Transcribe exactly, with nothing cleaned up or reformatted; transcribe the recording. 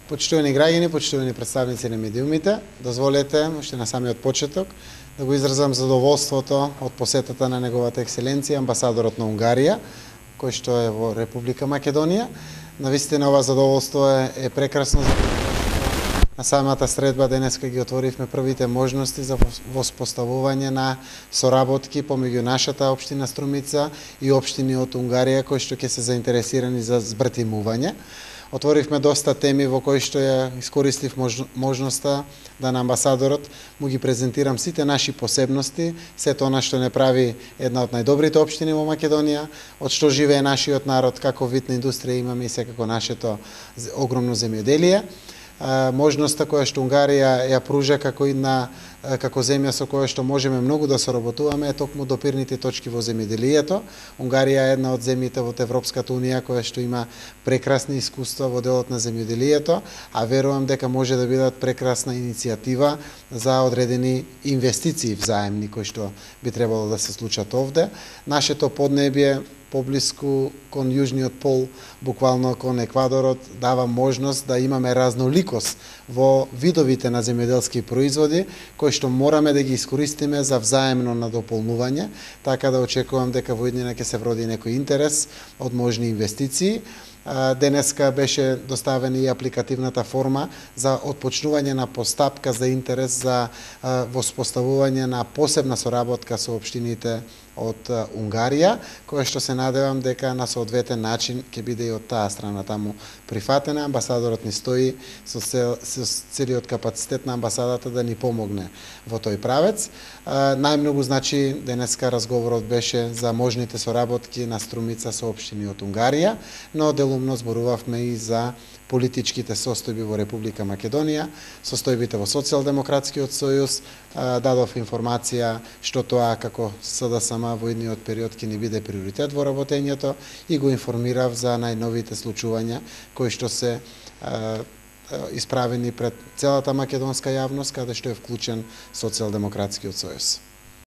Почитувани граѓани, почитувани представници на медиумите, дозволете уште на самиот почеток да го изразам задоволството од посетата на неговата екселенција амбасадорот на Унгарија, кој што е во Република Македонија. Навистина ова задоволство е, е прекрасно за на самата средба денеска ги отворивме првите можности за воспоставување на соработки помеѓу нашата општина Струмица и општини од Унгарија кои што ќе се заинтересирани за збратимување. Отворивме доста теми во кои што ја искористив можноста да на амбасадорот му ги презентирам сите наши посебности, сето она што не прави една од најдобрите општини во Македонија, од што живее нашиот народ, како вид на индустрија имаме и секако нашето огромно земјоделие. Можноста која што Унгарија ја пружа како една како земја со која што можеме многу да соработуваме е токму допирните точки во земјоделието. Унгарија е една од земјите во Европската унија која што има прекрасни искуства во делот на земјоделието, а верувам дека може да бидат прекрасна иницијатива за одредени инвестиции взаемни кои што би требало да се случат овде. Нашето поднебје поблиску кон јужниот пол, буквално кон Еквадорот, дава можност да имаме разноликост во видовите на земјоделски производи, кои што мораме да ги искористиме за взаемно надополнување, така да очекувам дека во иднина ќе се вроди некој интерес од можни инвестиции. Денеска беше доставена и апликативната форма за отпочнување на постапка за интерес за воспоставување на посебна соработка со општините од Унгарија, која што се надевам дека на соодветен начин ќе биде и од таа страна таму прифатена. Амбасадорот ни стои со, цел, со целиот капацитет на амбасадата да ни помогне во тој правец. Најмногу значи денеска разговорот беше за можните соработки на Струмица со општини од Унгарија, но делумно зборувавме и за политичките состојби во Република Македонија, состојбите во Социјалдемократскиот сојуз, дадов информација што тоа како СДСМ во идниот период ќе ни биде приоритет во работењето и го информирав за најновите случувања кои што се исправени пред целата македонска јавност, каде што е вклучен Социјалдемократскиот сојуз.